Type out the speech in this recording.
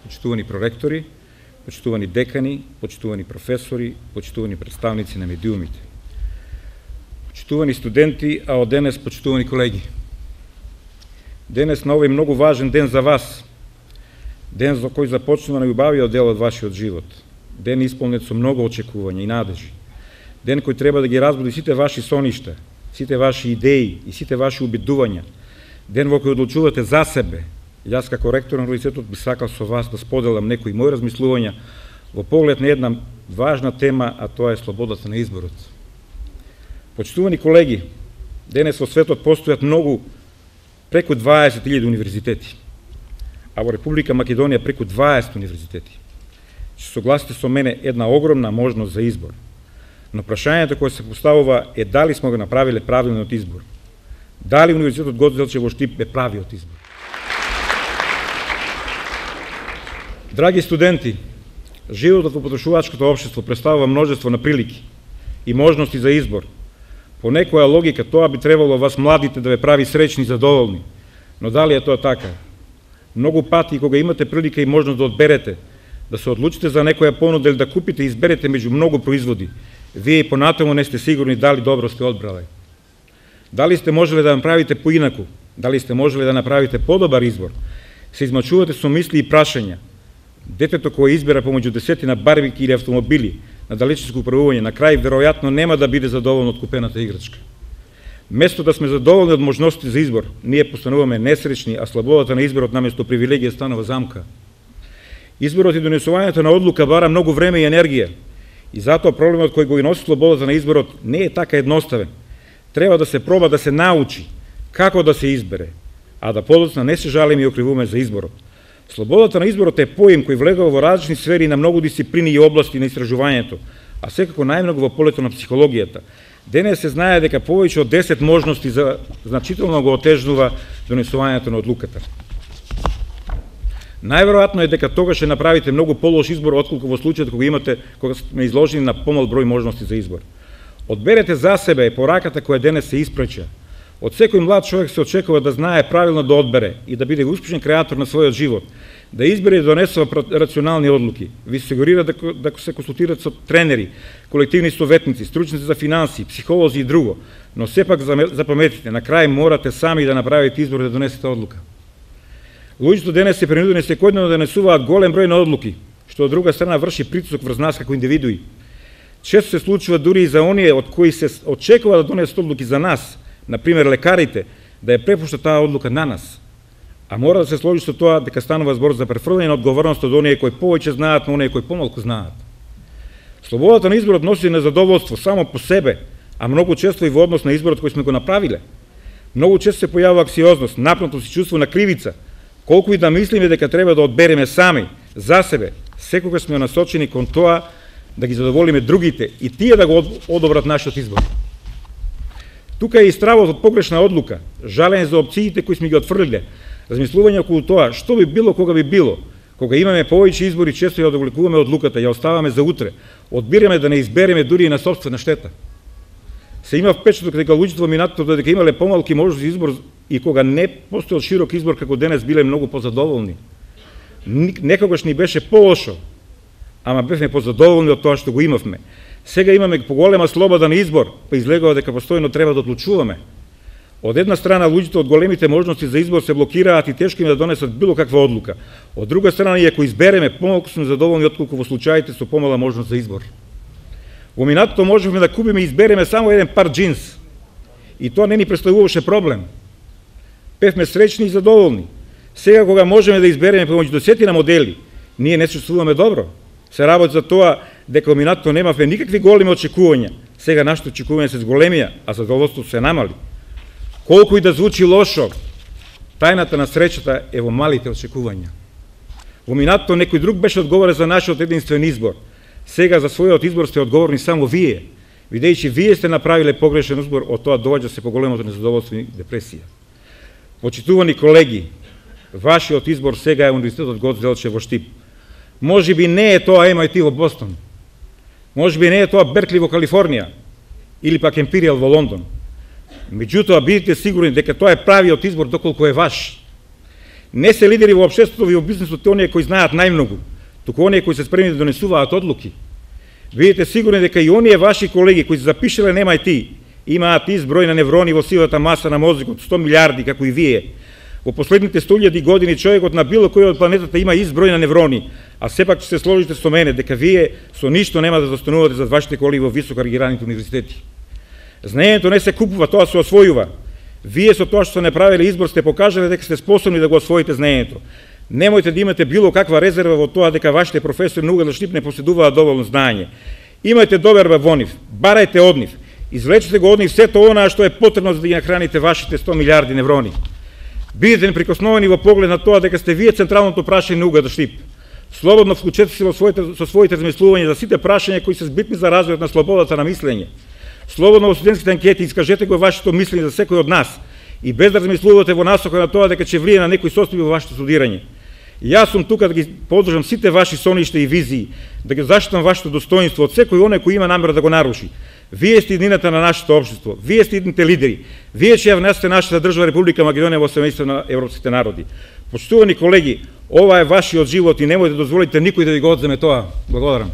почитувани проректори, почитувани декани, почитувани професори, почитувани представници на медиумите, почитувани студенти, а од денес почитувани колеги. Денес на овој многу важен ден за вас, ден за кој започнува најубавиот дел од вашиот живот, ден исполнет со многу очекувања и надежи, ден кој треба да ги разбуди сите ваши соништа, сите ваши идеи и сите ваши убедувања, ден во кој одлучувате за себе. Јас како ректор на универзитетот би сакал со вас да споделам некои мои размислувања во поглед на една важна тема, а тоа е слободата на изборот. Почитувани колеги, денес во светот постојат многу, преку 20.000 универзитети, а во Република Македонија преку 20 универзитети. Ќе согласите со мене една огромна можност за избор. Но прашањето кое се поставува е дали сме го направиле правилниот избор. Дали универзитетот Гоце Делчев во Штип е правиот избор. Драги студенти, животот во потрошувачкото општество представува множество на прилики и можности за избор. По некоја логика тоа би требало вас младите да ве прави среќни и задоволни. Но дали е тоа така? Многу пати кога имате прилика и можност да одберете, да се одлучите за некоја понуда или да купите и изберете меѓу многу производи, вие и понатаму не сте сигурни дали добро сте одбрале. Дали сте можеле да направите поинаку? Дали сте можеле да направите подобар избор? Се измачувате со мисли и прашања. Детето кое избира помеѓу десетина барбики или автомобили на далечинско управување, на крај веројатно нема да биде задоволно од купената играчка. Место да сме задоволни од можности за избор, ние постануваме несреќни, а слободата на изборот наместо привилегија станува замка. Изборот и донесувањето на одлука бара многу време и енергија, и затоа проблемот кој го носи слободата на изборот не е така едноставен. Треба да се проба да се научи како да се избере, а да подоцна не се жалиме и окривуваме за изборот. Слободата на изборот е поим кој влегува во различни сфери на многу дисциплини и области на истражувањето, а секако најмногу во полето на психологијата. Денес се знае дека повеќе од 10 можности за значително го отежнува донесувањето на одлуката. Најверојатно е дека тогаш ќе направите многу полош избор отколку во случајот кога сме изложени на помал број можности за избор. Одберете за себе пораката која денес се испреча. Од секој млад човек се очекува да знае правилно да одбере и да биде успешен креатор на својот живот, да избере и донесува рационални одлуки. Ви сигурира да се консултират со тренери, колективни советници, стручници за финанси, психолози и друго, но сепак запаметите, на крај морате сами да направите избор да донесете одлука. Луѓето денес се принудени секојдневно да донесуваат голем број на одлуки, што од друга страна врши притисок врз нас како индивидуи. Често се случува дури и за оние од кои се очекува да донесат одлуки за нас, например лекарите, да ја препушта таа одлука на нас. А мора да се сложи со тоа дека станува збор за префрлање на одговорност од оние кои повеќе знаат на оние кои помалку знаат. Слободата на изборот носи незадоволство само по себе, а многу често и во однос на изборот кој сме го направиле. Многу често се појавува аксиозност, напнато си чувство на кривица, колку и да мислиме дека треба да одбереме сами, за себе, секогаш сме насочени кон тоа да ги задоволиме другите и тие да го одобрат нашиот избор. Тука е и стравот од погрешна одлука, жалење за опциите кои сме ги отфрлиле, размислување околу тоа што би било кога би било, кога имаме повеќе избори, често ја одвлекуваме одлуката, ја оставаме за утре, одбираме да не избереме дури и на сопствена штета. Се има впечаток дека луѓето во минатото додека имале помалки можности за избор и кога не постоел широк избор како денес биле многу позадоволни. Некогаш ни беше полошо, ама бевме позадоволни од тоа што го имавме. Сега имаме поголема слобода на избор, па излегува дека постојано треба да одлучуваме. Од една страна, луѓето од големите можности за избор се блокираат и тешко им да донесат било каква одлука. Од друга страна, и ако избереме, помалку сме задоволни отколку во случаите со помала можност за избор. Во минатото можевме да купиме и избереме само еден пар джинс. И тоа не ни представуваше проблем. Бевме среќни и задоволни. Сега кога можеме да избереме помеѓу десетина модели, ние не се чувствуваме добро. Се работи за тоа дека во минатото немавме никакви големи очекувања. Сега нашите очекувања се зголемија, а задоволството се намали. Колку и да звучи лошо, тајната на среќата е во малите очекувања. Во минатото некој друг беше одговорен за нашиот единствен избор. Сега за својот избор сте одговорни само вие, бидејќи вие сте направиле погрешен избор, од тоа доаѓа се поголемото незадоволство и депресија. Почитувани колеги, вашиот избор сега е Универзитетот Гоце Делчев во Штип. Може би не е тоа MIT во Бостон. Може би не е тоа Беркли во Калифорнија или пак Емпиријал во Лондон. Меѓутоа, бидете сигурни дека тоа е правиот избор доколку е ваш. Не се лидери во општеството и во бизнисот оние кои знаат најмногу, туку оние кои се спремни да донесуваат одлуки. Бидете сигурни дека и оние ваши колеги кои се запишале нема ти, имаат изброј на неврони во сивата маса на мозокот 100 милиарди како и вие. Во последните 100.000 години човекот на било кој од планетата има изброј на неврони, а сепак ќе се сложите со мене дека вие со ништо нема да застанувате зад вашите колеги во високо рангираните универзитети. Знаењето не се купува, тоа се освојува. Вие со тоа што не правеле избор сте покажале дека сте способни да го освоите знаењето. Немојте да имате било каква резерва во тоа дека вашите професори на Углен Штип не поседуваат доволно знаење. Имајте доверба во нив, барајте од нив, извлечете го од нив сето она што е потребно за да ги нахраните вашите 100 милиарди неврони. Бидете неприкосновени во поглед на тоа дека сте вие централното прашање на Углен Штип. Слободно вклучете се со своите размислувања за сите прашања кои се битни за развојот на слободата на мислење. Слободно во студентските анкети искажете го вашето мислење за секој од нас и без да размислувате во насока на тоа дека ќе влие на некои состојби во вашето студирање. Јас сум тука да ги поддржам сите ваши соништа и визии, да ги заштитам вашето достоинство од секој оној кој има намера да го наруши. Вие сте иднината на нашето општество, вие сте идните лидери, вие ќе ја внесете нашата држава Република Македонија во семејство на европските народи. Почитувани колеги, ова е вашиот живот и немојте да дозволите никој да ви го одземе тоа. Благодарам.